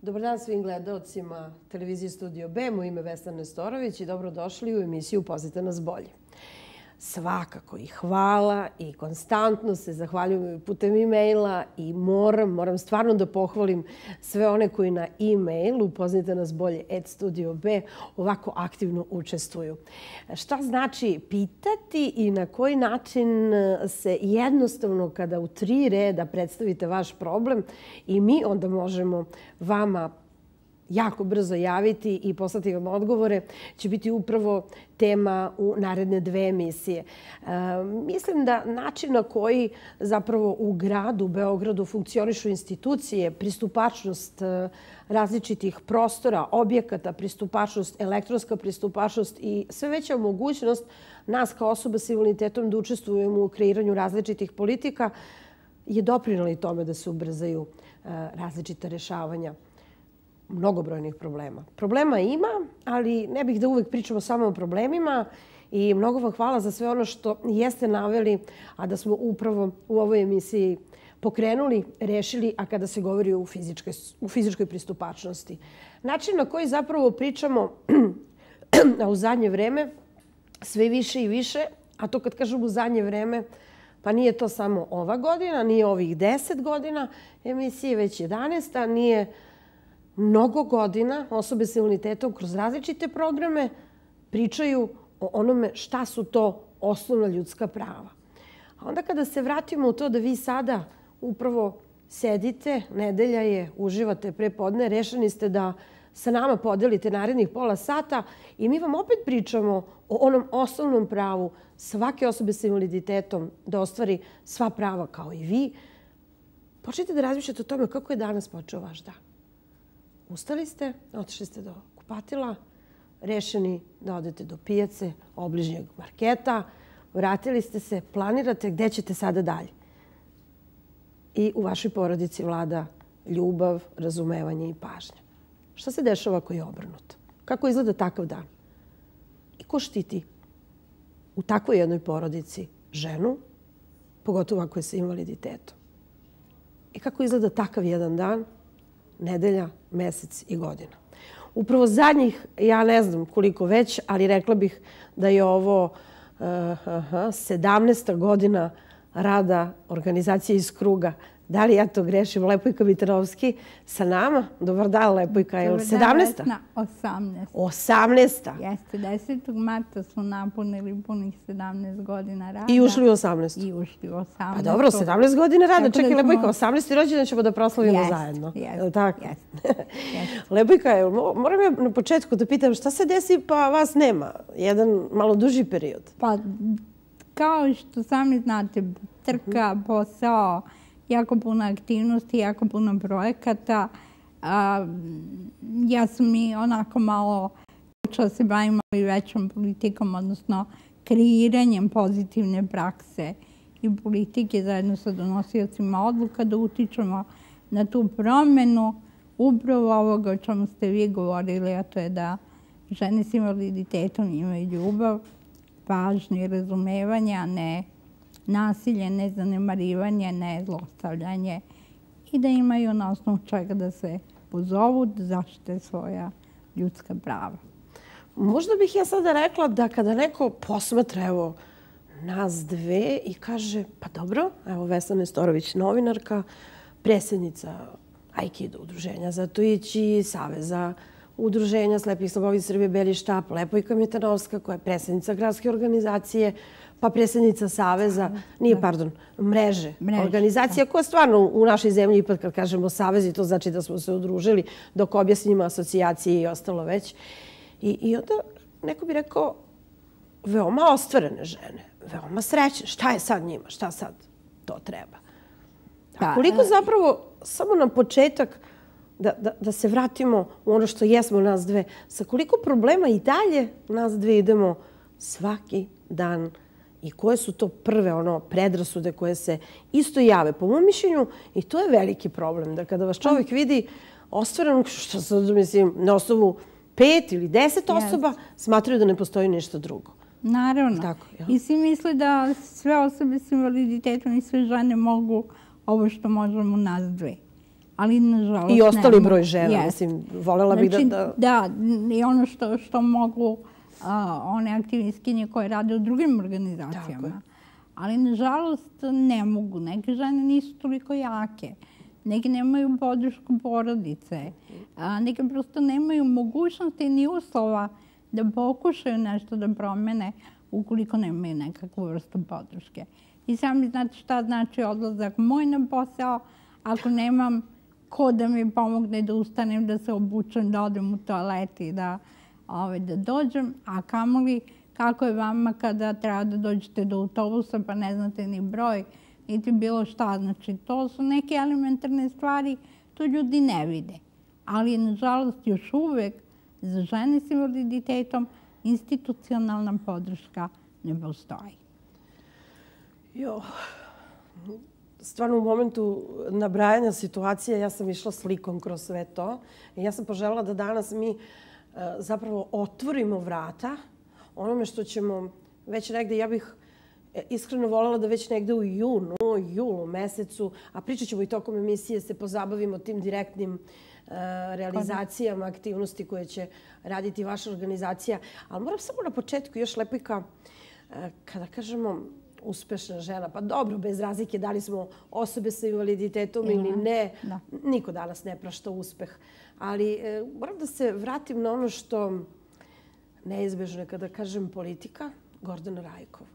Dobar dan svim gledaocima televizije Studio B. Moje ime je Vesna Nestorović i dobrodošli u emisiju Pazite nas bolje. Svakako i hvala i konstantno se zahvaljujem putem e-maila i moram stvarno da pohvalim sve one koji na e-mailu Pazite nas bolje @studio.b ovako aktivno učestvuju. Šta znači pitati i na koji način se jednostavno kada u 3 reda predstavite vaš problem i mi onda možemo vama jako brzo javiti i poslati vam odgovore, će biti upravo tema u naredne 2 emisije. Mislim da način na koji zapravo u gradu, Beogradu, funkcionišu institucije, pristupačnost različitih prostora, objekata, pristupačnost, elektronska pristupačnost i sve veća mogućnost nas kao osoba sa invaliditetom da učestvujemo u kreiranju različitih politika je doprinela i tome da se ubrzaju različita rešavanja mnogobrojnih problema. Problema ima, ali ne bih da uvek pričamo samo o problemima i mnogo vam hvala za sve ono što jeste naveli, a da smo upravo u ovoj emisiji pokrenuli, rešili, a kada se govori o fizičkoj pristupačnosti. Način na koji zapravo pričamo a u zadnje vreme sve više i više, a to kad kažem u zadnje vreme, pa nije to samo ova godina, nije ovih 10 godina emisije, već 11, nije mnogo godina osobe sa invaliditetom kroz različite programe pričaju o onome šta su to osnovna ljudska prava. A onda kada se vratimo u to da vi sada upravo sedite, nedelja je, uživate prepodne, rešeni ste da sa nama podelite narednih pola sata i mi vam opet pričamo o onom osnovnom pravu svake osobe sa invaliditetom da ostvari sva prava kao i vi. Počnite da razmišljate o tome kako je danas počeo vaš dan. Ustali ste, otišli ste do kupatila, rešeni da odete do pijace, obližnjeg marketa, vratili ste se, planirate gde ćete sada dalje. I u vašoj porodici vlada ljubav, razumevanje i pažnja. Šta se dešava ako je obrnuto? Kako izgleda takav dan? I ko štiti u takvoj jednoj porodici ženu, pogotovo ako je sa invaliditetom? I kako izgleda takav jedan dan? Nedelja, mesec i godina. Upravo zadnjih, ja ne znam koliko već, ali rekla bih da je ovo 17. godina rada organizacije iz kruga. Da li ja to grešim? Lepojka Mitarovski sa nama. Dobar dan, Lepojka. Je li 17? 18. 18. Jeste, 10. marta su napunili punih 17 godina rada. I ušli u 18. I ušli u 18. Pa dobro, 17 godina rada. Čekaj, Lepojka, 18. rođendan ćemo da proslavimo zajedno. Jeste. Lepojka, moram ja na početku da pitam šta se desi pa vas nema? Jedan malo duži period. Pa, kao što sami znate, trka, posao, jako puno aktivnosti, jako puno projekata. Ja sam i onako malo počela se bavim i većom politikom, odnosno kreiranjem pozitivne prakse i politike zajedno sa donosiocima odluka da utičemo na tu promenu upravo ovoga o čemu ste vi govorili, a to je da žene s invaliditetom imaju ljubav, pažnju i razumevanje, a ne nasilje, ne zanemarivanje, ne zlostavljanje i da imaju na osnovu čega da se pozovu da zaštite svoja ljudska prava. Možda bih ja sada rekla da kada neko posmatra evo nas dve i kaže pa dobro, evo Vesna Nestorović, novinarka, predsjednica Aikido udruženja Zatoići, Saveza udruženja slepih i slabovidih Srbije Beli štap, Lepojka Mitarovska koja je predsjednica gradske organizacije, pa predsjednica Saveza, mreže organizacija koja stvarno u našoj zemlji, ipak kad kažemo savezi, to znači da smo se udružili, dok objasnimo asocijacije i ostalo već. I onda neko bi rekao veoma ostvarene žene, veoma srećne. Šta je sad njima? Šta sad to treba? A koliko zapravo, samo na početak, da se vratimo u ono što jesmo nas dve, sa koliko problema i dalje nas dve idemo svaki dan i koje su to prve predrasude koje se isto jave. Po mom mišljenju, i to je veliki problem, da kada vas čovjek vidi ostvareno, što sad mislim, na osnovu 5 ili 10 osoba, smatraju da ne postoji ništa drugo. Naravno. I svi misle da sve osobe s invaliditetom i sve žene mogu ovo što možemo nas dve. ali nažalost I ostali broj žena, mislim, voljela bih da... Da, i ono što mogu one aktivistkinje koje rade u drugim organizacijama. Ali nažalost ne mogu. Neke žene nisu toliko jake. Neke nemaju podršku porodice. Neke prosto nemaju mogućnosti ni uslova da pokušaju nešto da promene ukoliko nemaju nekakvu vrstu podrške. I sami znate šta znači odlazak moj na posao ako nemam ko da mi pomogne da ustanem, da se obučem, da odem u toalet i da dođem. A kamoli kako je vama kada treba da dođete do autobusa pa ne znate ni broj, niti bilo šta. Znači, to su neke elementarne stvari, to ljudi ne vide. Ali, nažalost, još uvek za žene s invaliditetom institucionalna podrška ne postoji. Stvarno u momentu nabrajanja situacije ja sam išla slikom kroz sve to. I ja sam poželjela da danas mi zapravo otvorimo vrata onome što ćemo već negde, ja bih iskreno voljela da već negde u julu mesecu, a pričat ćemo i tokom emisije, se pozabavimo tim direktnim realizacijama, aktivnosti koje će raditi vaša organizacija. Ali moram samo na početku još Lepojka, kada kažemo uspešna žena, pa dobro, bez razlike da li smo osobe sa invaliditetom ili ne, niko danas ne prašta uspeh. Ali moram da se vratim na ono što neizbežno je kada kažem politika, Gordana Rajkov.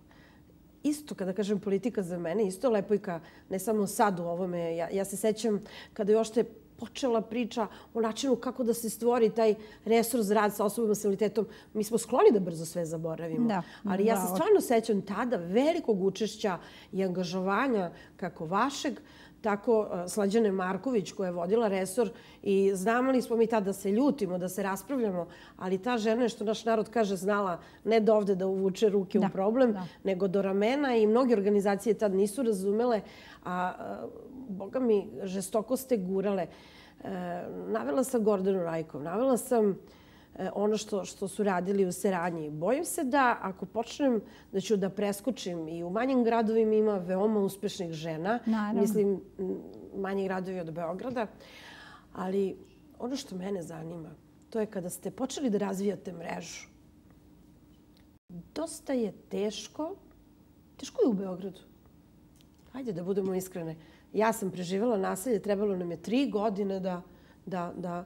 Isto kada kažem politika za mene, isto Lepojka, ne samo sad u ovome. Ja se sećam kada je ošte počela priča o načinu kako da se stvori taj resor za rad sa osobama s invaliditetom. Mi smo skloni da brzo sve zaboravimo. Ali ja se stvarno sećam tada velikog učešća i angažovanja kako vašeg, tako Slađane Marković koja je vodila resor i znali smo mi tada da se ljutimo, da se raspravljamo, ali ta žena je, što naš narod kaže, znala ne do ovde da uvuče ruke u problem, nego do ramena i mnoge organizacije tad nisu razumele, a boga mi, žestoko ste gurale. Navela sam Gordanu Rajkov, navela sam ono što su radili u Seranji. Bojim se da ako počnem da ću da preskočim i u manjim gradovima ima veoma uspešnih žena. Mislim, manji gradovi od Beograda. Ali ono što mene zanima, to je kada ste počeli da razvijate mrežu. Dosta je teško. Teško je u Beogradu. Hajde da budemo iskrene. Ja sam preživjela nasilje, trebalo nam je 3 godine da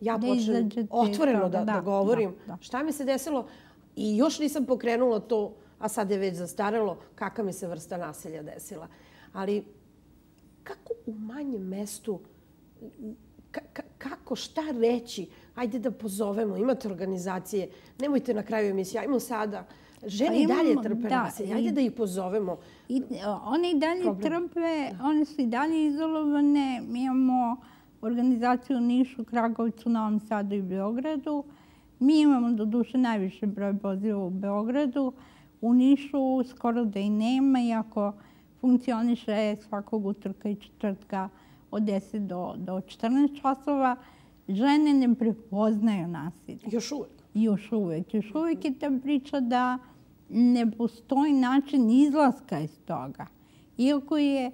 ja počnem otvoreno da govorim šta mi se desilo i još nisam pokrenula to, a sad je već zastarelo, kakva mi se vrsta nasilja desila. Ali kako u manjem mestu, kako, šta reći? Ajde da pozovemo, imate organizacije, nemojte na kraju emisije, ajmo sada. Žene i dalje trpe nasilje, ajde da ih pozovemo. One i dalje trpe, one su i dalje izolovane. Mi imamo organizaciju u Nišu, Kragovicu, Novom Sadu i Beogradu. Mi imamo do duše najviše broj poziva u Beogradu. U Nišu skoro da i nema, iako funkcioniše svakog utorka i četvrtka od 10 do 14 časova. Žene ne prepoznaju nasilje. Još uvek? Još uvek. Još uvek je ta priča da ne postoji način izlaska iz toga. Iako je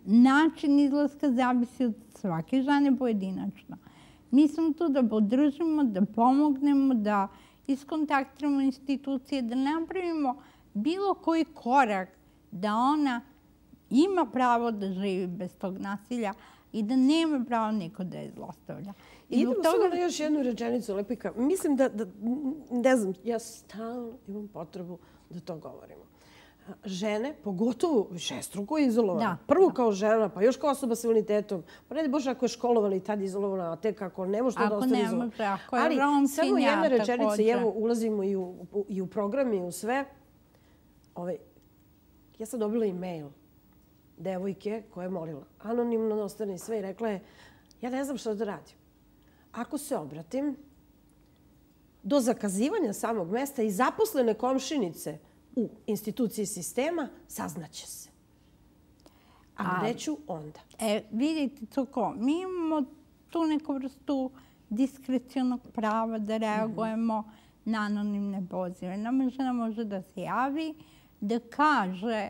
način izlaska zavisi od svake žene pojedinačno. Mi smo tu da podržimo, da pomognemo, da iskontaktiramo institucije, da napravimo bilo koji korak da ona ima pravo da živi bez tog nasilja i da nema pravo niko da je zlostavlja. Idemo samo na još jednu rečenicu, Lepojka. Mislim da, ne znam, ja stalno imam potrebu da to govorimo. Žene, pogotovo višestruko izolovane. Prvo kao žena, pa još kao osoba s invaliditetom. Pa ne Bože, ako je školovala i tad izolovana, a tek ako ne može to da ostane izolovana. Ali samo jedna rečenica, i evo ulazimo i u program i u sve. Ja sam dobila e-mail devojke koja je molila. Anonimno ostane i sve i rekla je, ja ne znam što da radim. Ako se obratim, do zakazivanja samog mesta i zaposlene komšinice u instituciji sistema saznaće se. A gde ću onda? Vidite, Coko, mi imamo tu neku vrstu diskrecionog prava da reagujemo na anonimne pozive. Nama žena može da se javi, da kaže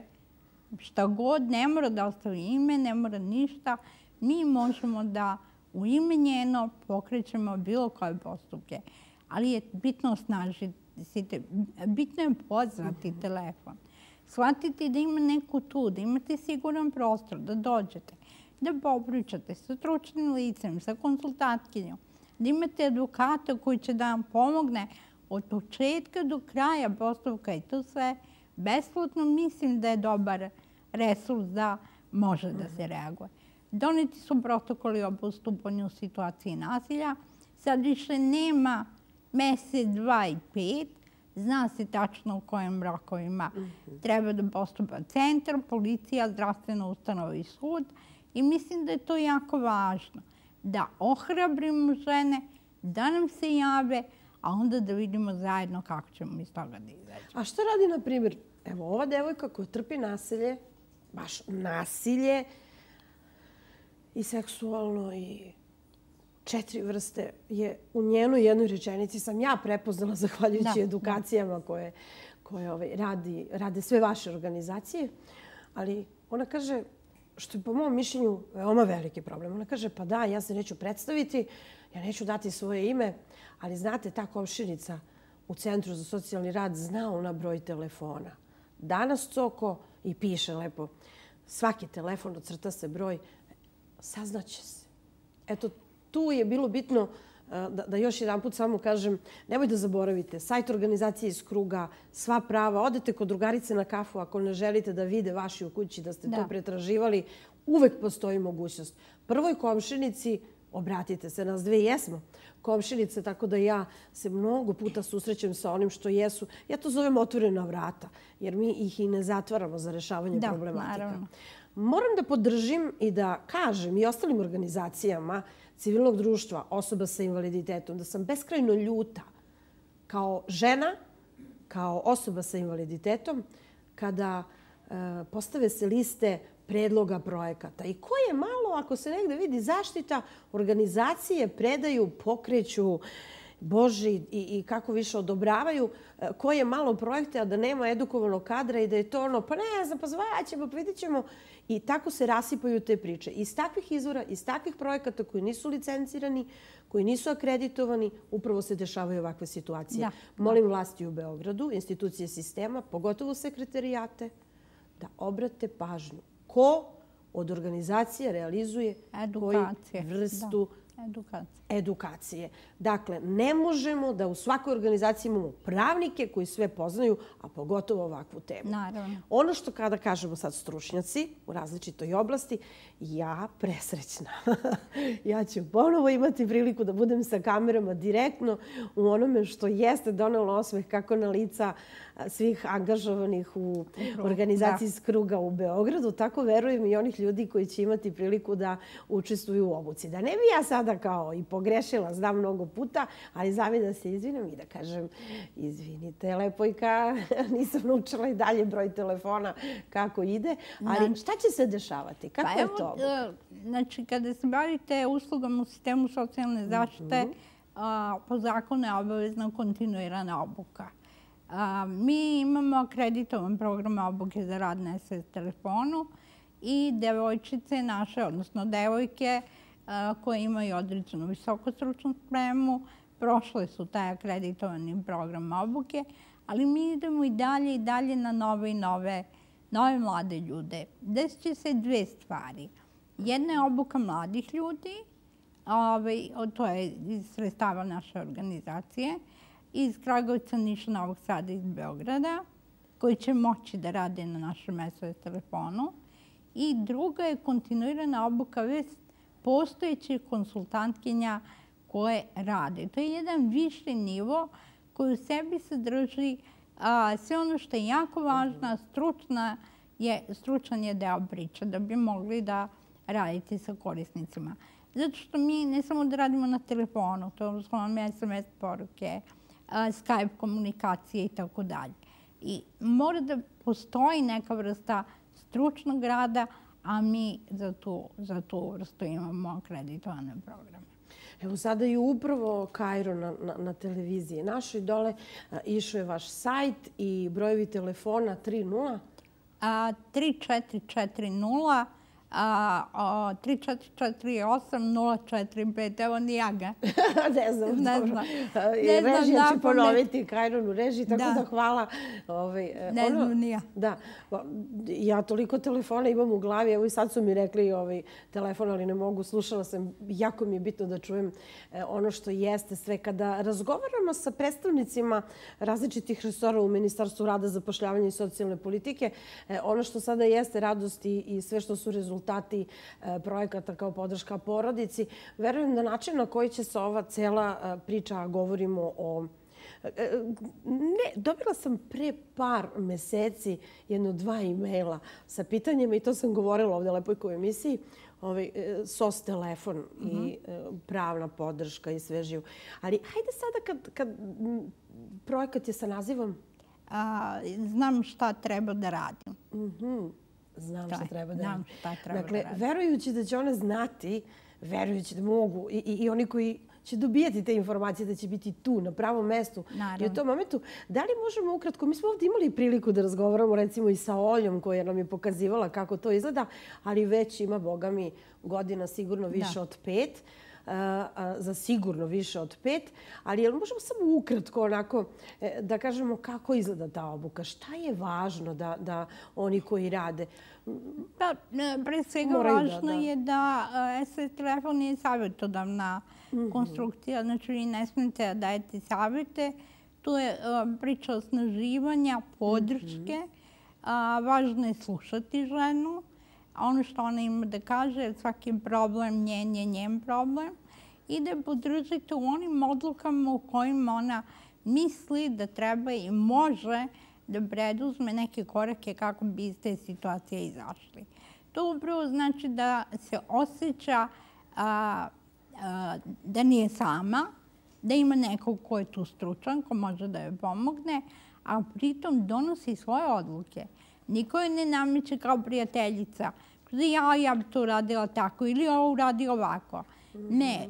šta god, ne mora da ostavi ime, ne mora ništa. mi možemo da u ime njeno pokrećemo bilo koje postupke. Ali je bitno osnažiti, bitno je pozvati telefon. Shvatiti da ima neko tu, da imate siguran prostor, da dođete, da popričate sa stručnim licem, sa konsultantkinjom, da imate advokata koji će da vam pomogne od početka do kraja postupka i to sve besplatno. Mislim da je dobar resurs da može da se reaguje. Doneti su protokoli o postupanju u situaciji nasilja. Sad više nema mesec, 2 i 5. Zna se tačno u kojim rokovima treba da postupa centar, policija, zdravstvena ustanova i sud. I mislim da je to jako važno. Da ohrabrimo žene, da nam se jave, a onda da vidimo zajedno kako ćemo iz toga da izađemo. A šta radi, na primjer, evo ova devojka koja trpi nasilje, baš nasilje, i seksualno i 4 vrste je u njenoj jednoj rečenici sam ja prepoznala zahvaljujući edukacijama koje rade sve vaše organizacije. Ali ona kaže, što je po mom mišljenju veoma veliki problem. Ona kaže, pa da, ja se neću predstaviti, ja neću dati svoje ime, ali znate, ta komšinica u Centru za socijalni rad zna ona broj telefona. Danas coko i piše lepo, svaki telefon ocrta se broj, saznaće se. Eto, tu je bilo bitno da još jedan put samo kažem, nemoj da zaboravite, sajt organizacije iz kruga, sva prava, odete kod drugarice na kafu ako ne želite da vide vaši u kući da ste to pretraživali, uvek postoji mogućnost. Prvoj komšinici obratite se, nas dve jesmo komšinice, tako da ja se mnogo puta susrećem sa onim što jesu. Ja to zovem otvorena vrata, jer mi ih i ne zatvaramo za rešavanje problematika. Moram da podržim i da kažem i ostalim organizacijama civilnog društva, osoba sa invaliditetom, da sam beskrajno ljuta kao žena, kao osoba sa invaliditetom, kada postave se liste predloga projekata. I ko je malo, ako se negde vidi zaštita, organizacije predaju, pokreću, Boži i kako više odobravaju, koje malo projekte, a da nema edukovanog kadra i da je to ono, pa ne znam, pa zvaćemo, pa vidit ćemo. I tako se rasipaju te priče. Iz takvih izvora, iz takvih projekata koji nisu licencirani, koji nisu akreditovani, upravo se dešavaju ovakve situacije. Molim vlasti u Beogradu, institucije sistema, pogotovo sekretarijate, da obrate pažnju. Ko od organizacije realizuje koju vrstu edukacije. Dakle, ne možemo da u svakoj organizaciji imamo pravnike koji sve poznaju, a pogotovo ovakvu temu. Ono što kada kažemo sad stručnjaci u različitoj oblasti, ja presrećna. Ja ću ponovo imati priliku da budem sa kamerama direktno u onome što jeste donelo osmeh kako na lica svih angažovanih u organizaciji iz kruga u Beogradu, tako verujem i onih ljudi koji će imati priliku da učestvuju u obuci. Da ne bi ja sada kao i pogrešila, znam mnogo puta, ali zami da se izvinem i da kažem, izvinite, lepojka, nisam naučila i dalje broj telefona kako ide, ali šta će se dešavati? Kako je to? Znači, kada se bavite uslugama u sistemu socijalne zaštite, po zakonu je obavezna kontinuirana obuka. Mi imamo akreditovan program obuke za rad na SOS telefonu i devojčice naše, odnosno devojke koje imaju određenu visokostručnu spremu, prošle su taj akreditovani program obuke, ali mi idemo i dalje na nove i nove mlade ljude. Desit će se 2 stvari. Jedna je obuka mladih ljudi, to je iz sredstava naše organizacije, iz Kragujevca, Niša, Novog Sada i iz Beograda, koji će moći da rade na našem SOS telefonu. I druga je kontinuirana obuka već postojećih konsultantkinja koje rade. To je jedan viši nivo koji u sebi sadrži sve ono što je jako važno, stručan je deo priče da bi mogli da radite sa korisnicima. Zato što mi ne samo da radimo na telefonu, to su vam SMS poruke, Skype komunikacije i tako dalje. I mora da postoji neka vrsta stručnog rada, a mi za tu vrstu imamo akreditovane programe. Evo sada je upravo Kairo na televiziji našoj dole. Išao je vaš sajt i brojevi telefona 30? 3440 3448-045. Evo ni ja ga. Ne znam. Ne znam. Režija će ponoviti Kajron u režiji, tako da hvala. Ne znam ni ja. Da. Ja toliko telefona imam u glavi. Evo i sad su mi rekli telefon, ali ne mogu. Slušala sam. Jako mi je bitno da čujem ono što jeste sve. Kada razgovaramo sa predstavnicima različitih resora u Ministarstvu rada, zapošljavanja i socijalne politike, ono što sada jeste radost i sve što su rezultati projekata kao podrška porodici, verujem da način na koji će se ova cela priča, a govorimo o... Ne, dobila sam pre par meseci 1-2 e-maila sa pitanjima i to sam govorila ovde Lepojko u emisiji, SOS telefon i pravna podrška i sve živo. Ali hajde sada kad projekat je sa nazivom... Znam šta treba da radim. Znam šta treba da radim. Znam šta treba da Dakle, radim. verujući da će one znati, verujući da mogu i oni koji će dobijati te informacije, da će biti tu, na pravom mestu i u tom momentu. Da li možemo ukratko, mi smo ovdje imali priliku da razgovaramo recimo i sa Oljom koja nam je pokazivala kako to izgleda, ali već ima, boga mi, godina sigurno više od 5, za sigurno više od 5, ali jel možemo samo ukratko onako da kažemo kako izgleda ta obuka, šta je važno da oni koji rade? Da, pre svega važno je da SOS telefon je savjetodavna konstrukcija, znači vi ne smijete da dajete savjete. Tu je priča osnaživanja, podrške. Važno je slušati ženu. Ono što ona ima da kaže, jer svaki problem njen je njen problem. I da je podržite u onim odlukama u kojima ona misli da treba i može da preduzme neke korake kako bi iz te situacije izašli. To upravo znači da se osjeća da nije sama, da ima nekog ko je tu stručan, ko može da joj pomogne, a pritom donosi svoje odluke. Niko je ne nameće kao prijateljica. Ja bi to uradila tako ili ovo uradi ovako. Ne.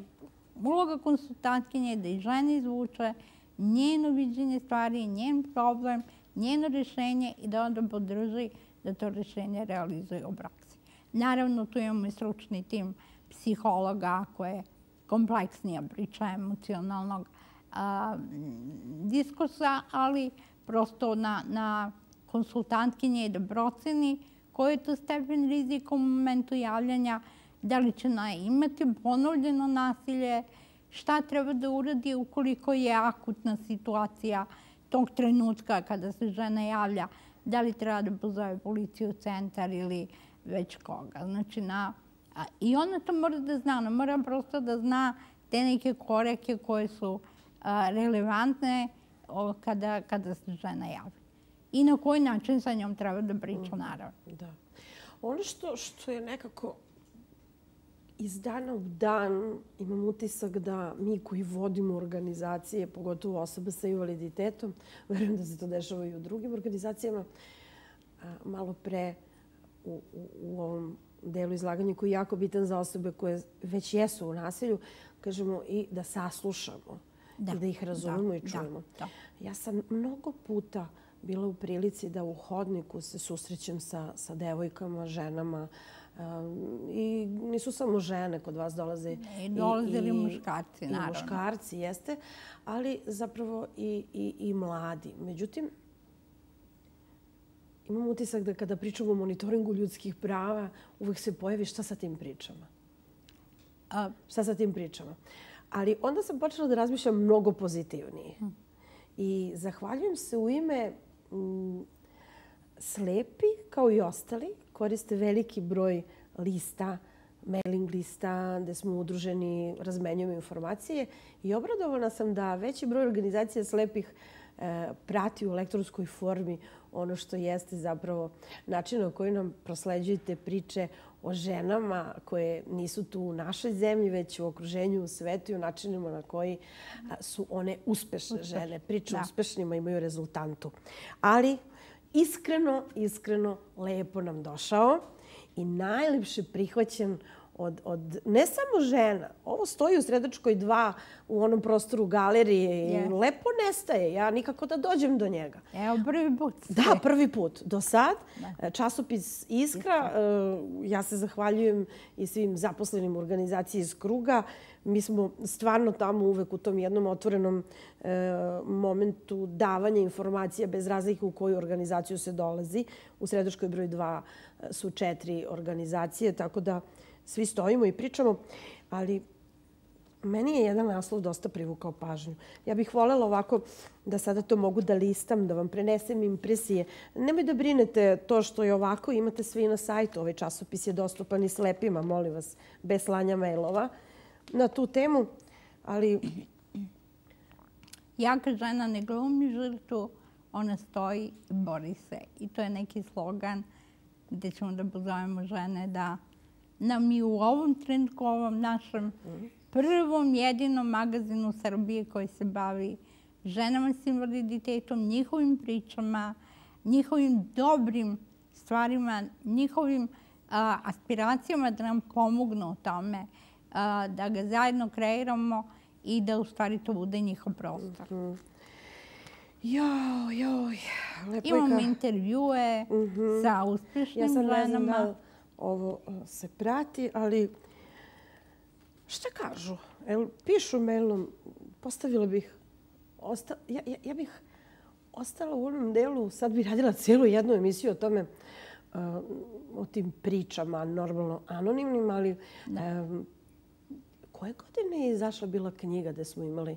Uloga konsultantkinje je da i žena izvuče njeno viđenje stvari, njen problem, njeno rješenje i da onda podrži da to rješenje realizuje u praksi. Naravno, tu imamo i stručni tim psihologa koje je kompleksnija priča emocionalnog diskursa, ali prosto na konsultantkinje je da proceni koji je to stepen rizika u momentu javljanja, da li će ona imati ponovljeno nasilje, šta treba da uradi ukoliko je akutna situacija tog trenutka kada se žena javlja, da li treba da pozove policiju, centar ili već koga. Znači, i ona to mora da zna, ona mora prosto da zna te neke korake koje su relevantne kada se žena javi. I na koji način sa njom treba da priča, naravno. Da. Ono što je nekako iz dana u dan imam utisak da mi koji vodimo organizacije, pogotovo osobe sa invaliditetom, verujem da se to dešava i u drugim organizacijama, malo pre u ovom delu izlaganja koji je jako bitan za osobe koje već jesu u nasilju, kažemo i da saslušamo i da ih razumemo i čujemo. Ja sam mnogo puta bila u prilici da u hodniku se susrećem sa devojkama, ženama i nisu samo žene, kod vas dolaze i muškarci, naravno. I muškarci, jeste, ali zapravo i mladi. Međutim, imam utisak da kada pričamo o monitoringu ljudskih prava, uvek se pojavi šta sa tim pričama. Šta sa tim pričama. Ali onda sam počela da razmišljam mnogo pozitivnije. I zahvaljujem se u ime slepi, kao i ostali, koriste veliki broj lista, mailing lista, gde smo udruženi, razmenjujemo informacije i obradovana sam da veći broj organizacija slepih prati u elektronskoj formi ono što jeste zapravo način na koji nam prosleđujete priče o ženama koje nisu tu u našoj zemlji, već u okruženju, u svetu i o načinima na koji su one uspešne žene. Priče o uspešnima imaju rezultantu. Ali iskreno lepo nam došao i najlepše prihvaćen od ne samo žena. Ovo stoji u Sredačkoj 2 u onom prostoru galerije i lepo nestaje. Ja nikako da dođem do njega. Evo, prvi put. Da, prvi put. Do sad, časopis Iskra, ja se zahvaljujem i svim zaposlenim u organizaciji iz Kruga. Mi smo stvarno tamo uvek u tom jednom otvorenom momentu davanja informacija bez razlike u koju organizaciju se dolazi. U Sredačkoj broj 2 su 4 organizacije, tako da svi stojimo i pričamo, ali meni je jedan naslov dosta privukao pažnju. Ja bih voljela ovako da sada to mogu da listam, da vam prenesem impresije. Nemoj da brinete to što je ovako, imate svi na sajtu. Ovaj časopis je dostupan i slepima, molim vas, bez slanja mailova na tu temu, ali... Jaka žena ne glumi žrtvu, ona stoji i bori se. I to je neki slogan gde ćemo da pozovemo žene da nam i u ovom trenutku, u ovom našem prvom jedinom magazinu Srbije koji se bavi ženama s invaliditetom, njihovim pričama, njihovim dobrim stvarima, njihovim aspiracijama da nam pomognu u tome, da ga zajedno kreiramo i da u stvari to bude njihov prostor. Joj, lepo Imamo intervjue sa uspješnim ženama. Ja sad ne znam da ovo se prati, ali šta kažu? Pišu mailom, postavila bih, ja bih ostala u onom delu, sad bih radila cijelu jednu emisiju o tome, o tim pričama, normalno anonimnim, ali koje godine je izašla bila knjiga gde smo imali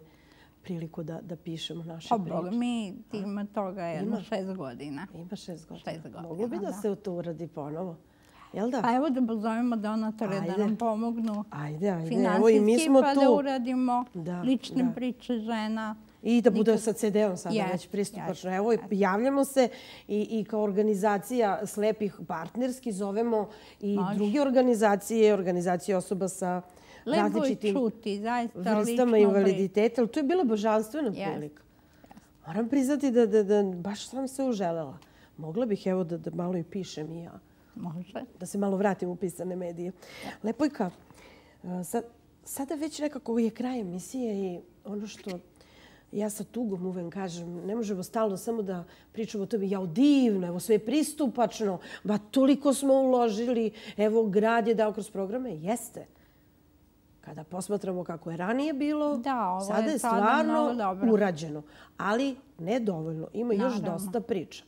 priliku da pišemo naše priče? Boga mi, ima toga jedno 6 godina. Ima 6 godina. Moglo bi da se to uradi ponovo. Jel da? Pa evo da pozovemo donatore da nam pomognu finansijski pa da uradimo lične priče žena. I da bude sa CD-om sada već pristupačno. Evo, javljamo se i kao organizacija slepih partnerski zovemo i druge organizacije osoba sa različitim vrstama invaliditeta. To je bila božanstvena prilika. Moram priznati da baš sam se uželela. Mogla bih evo da malo i pišem i ja. Može. Da se malo vratim u pisane medije. Lepojka, sada već nekako je kraj emisije i ono što ja sa tugom uvek kažem, ne možemo stalno samo da pričamo o tome, jao divno, evo sve je pristupačno, ba toliko smo uložili, evo grad je dao kroz programe. Jeste. Kada posmatramo kako je ranije bilo, sada je stvarno urađeno. Ali ne dovoljno. Ima još dosta priča.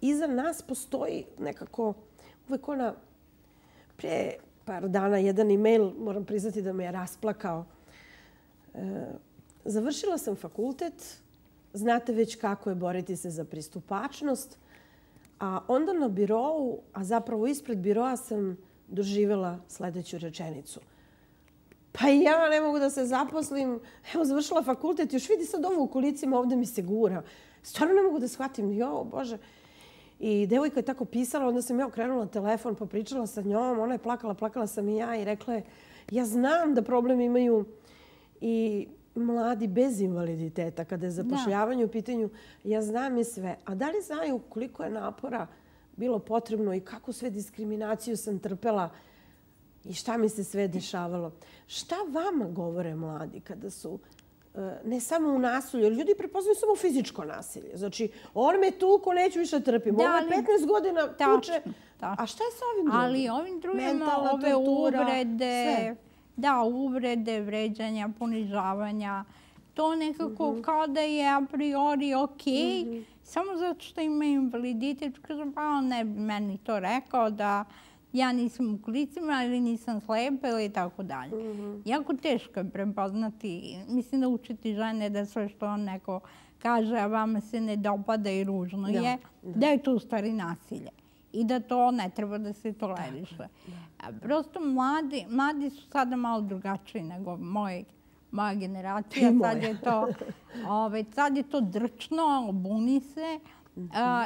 Iza nas postoji nekako uvek ona, prije par dana jedan e-mail, moram priznati da me je rasplakao. Završila sam fakultet, znate već kako je boriti se za pristupačnost, a onda na birou, a zapravo ispred biroa sam doživjela sledeću rečenicu. Pa ja ne mogu da se zaposlim, evo završila fakultet, još vidi sad ovo u kolicima, ovde mi se gura. Stvarno ne mogu da shvatim, jo, Bože. I devojka je tako pisala, onda sam ja okrenula telefon, pa pričala sa njom, ona je plakala sam i ja i rekla je, ja znam da problem imaju i mladi bez invaliditeta, kada je zapošljavanje u pitanju, ja znam i sve. A da li znaju koliko je napora bilo potrebno i kakvu sve diskriminaciju sam trpela i šta mi se sve dešavalo? Šta vama govore mladi kada su ne samo u nasilju, jer ljudi prepoznaju samo fizičko nasilje. Znači, on me tuko, neću više trpim. Ovo je 15 godina tuče. A šta je sa ovim drugim? Ali ovim drugim ove uvrede, uvrede, vređanja, ponižavanja, to nekako kao da je a priori okej, samo zato što ima invaliditet. Kažem, pa on ne bi meni to rekao da ja nisam u kolicima ili nisam slepa ili tako dalje. Jako teško je prepoznati, mislim da učiti žene da sve što on neko kaže, a vama se ne dopada i ružno je, da je to u stvari nasilje i da to ne treba da se toleriše. Prosto mladi su sada malo drugačiji nego moja generacija. Sad je to drčno, buni se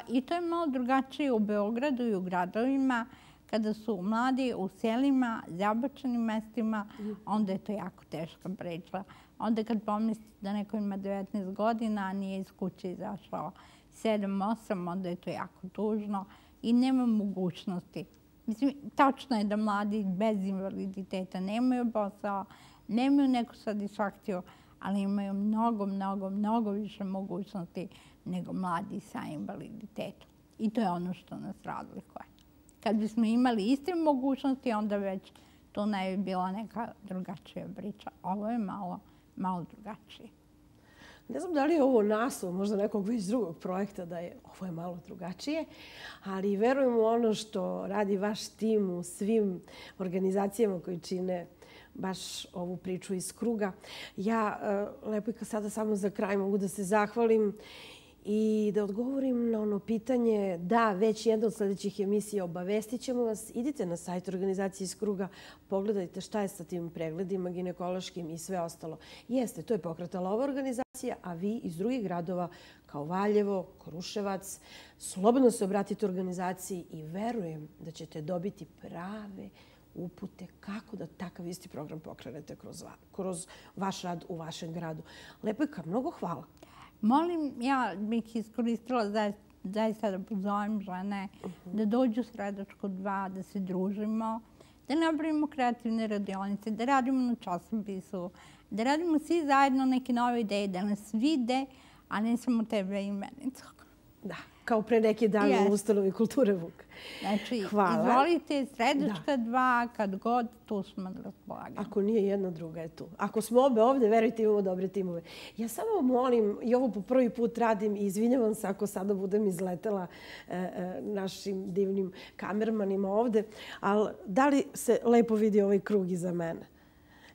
i to je malo drugačije u Beogradu i u gradovima. Kada su mladi u selima, zabačenim mestima, onda je to jako teška priča. Onda kad pomislite da neko ima 19 godina, a nije iz kuće izašao 7-8, onda je to jako tužno i nema mogućnosti Mislim, tačno je da mladi bez invaliditeta nemaju posao, nemaju neku satisfakciju, ali imaju mnogo više mogućnosti nego mladi sa invaliditetom. I to je ono što nas razlikuje. Kad bismo imali iste mogućnosti, onda već to ne bi bila neka drugačija priča. Ovo je malo drugačije. Ne znam da li je ovo naslov možda nekog već drugog projekta, da je ovo je malo drugačije, ali verujem u ono što radi vaš tim u svim organizacijama koji čine baš ovu priču iz kruga. Ja, Lepojka, sada samo za kraj mogu da se zahvalim i da odgovorim na ono pitanje. Da, već jedna od sljedećih emisija obavestit ćemo vas. Idite na sajt organizacije iz kruga, pogledajte šta je sa tim pregledima ginekološkim i sve ostalo. Jeste, to je pokretala ova organizacija, a vi iz drugih gradova kao Valjevo, Kruševac, slobodno se obratite organizaciji i verujem da ćete dobiti prave upute kako da takav isti program pokrenete kroz vaš rad u vašem gradu. Lepojka, mnogo hvala. Molim, ja bih iskoristila zaista da pozovem žene da dođu u Sredačku 2, da se družimo, da napravimo kreativne radionice, da radimo na časopisu, da radimo svi zajedno neke nove ideje, da nas vide, a ne samo tebe i menicu. Da, kao pre neki dan u Ustanovi kulture Vuk. Znači, izvolite, Sredačka 2, kad god, tu smo na raspolaganju. Ako nije jedna, druga je tu. Ako smo obe ovde, verujte, imamo dobre timove. Ja samo molim, i ovo po prvi put radim, i izvinjavam se ako sada budem izletela našim divnim kamermanima ovde, ali da li se lepo vidi ovaj krug iza mene?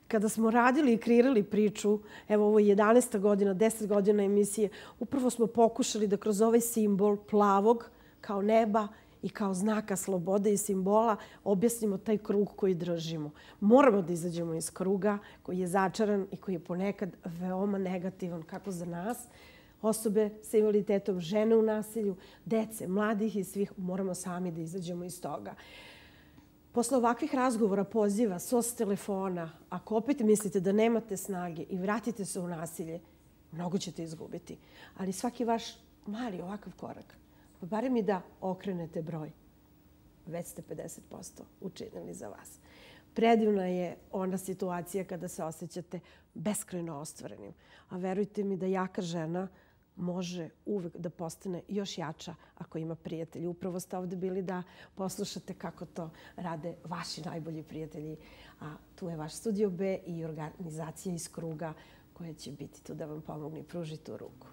Kada smo radili i kreirali priču, evo ovo je 11. godina, 10 godina emisije, upravo smo pokušali da kroz ovaj simbol plavog kao neba i kao znaka slobode i simbola objasnimo taj krug koji držimo. Moramo da izađemo iz kruga koji je začaran i koji je ponekad veoma negativan, kako za nas, osobe sa invaliditetom, žene u nasilju, dece, mladih i svih. Moramo sami da izađemo iz toga. Posle ovakvih razgovora, poziva, SOS telefona, ako opet mislite da nemate snage i vratite se u nasilje, mnogo ćete izgubiti. Ali svaki vaš mali ovakav korak, pa barem i da okrenete broj, već ste 50% učinili za vas. Predivna je ona situacija kada se osjećate beskrajno ostvarenim. A verujte mi da jaka žena može uvek da postane još jača ako ima prijatelji. Upravo ste ovde bili da poslušate kako to rade vaši najbolji prijatelji. A tu je vaš Studio B i organizacija iz kruga koja će biti tu da vam pomogne i pruži tu ruku.